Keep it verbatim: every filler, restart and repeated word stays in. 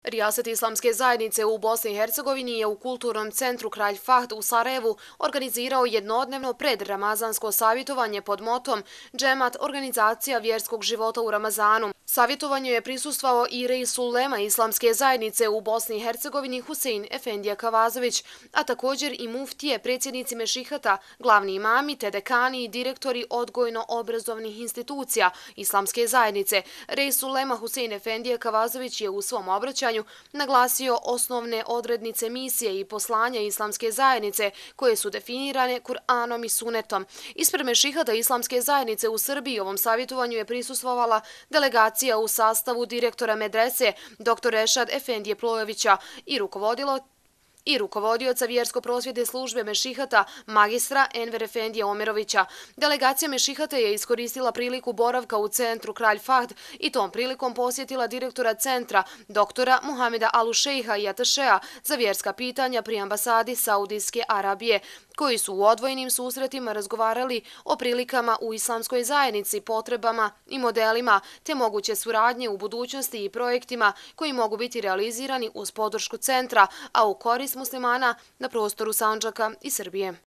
Rijaset islamske zajednice u Bosni i Hercegovini je u kulturnom centru Kralj Fahd u Sarajevu organizirao jednodnevno predramazansko savjetovanje pod motom Džemat, organizacija vjerskog života u Ramazanu. Savjetovanju je prisustvovao i reis ulema islamske zajednice u Bosni i Hercegovini Husein Efendija Kavazović, a također i muftije, predsjednici mešihata, glavni imami te dekani i direktori odgojno-obrazovnih institucija islamske zajednice. Reis ulema Husein Efendija Kavazović je u svom obraćanju naglasio osnovne odrednice misije i poslanja islamske zajednice koje su definirane Kur'anom i Sunetom. Ispred mešihata islamske zajednice u Srbiji ovom savjetovanju je prisustvovala delegacija u sastavu direktora medrese dr Ešad Efendije Plojevića i rukovodilo i rukovodioca vjersko-prosvjetne službe mešihata magistra Enver Efendije Omerovića. Delegacija mešihata je iskoristila priliku boravka u centru Kralj Fahd i tom prilikom posjetila direktora centra doktora Muhameda Alušejha i atašea za vjerska pitanja pri ambasadi Saudijske Arabije, koji su u odvojenim susretima razgovarali o prilikama u islamskoj zajednici, potrebama i modelima, te moguće suradnje u budućnosti i projektima koji mogu biti realizirani uz podršku centra, a u korist muslimana na prostoru Sandžaka i Srbije.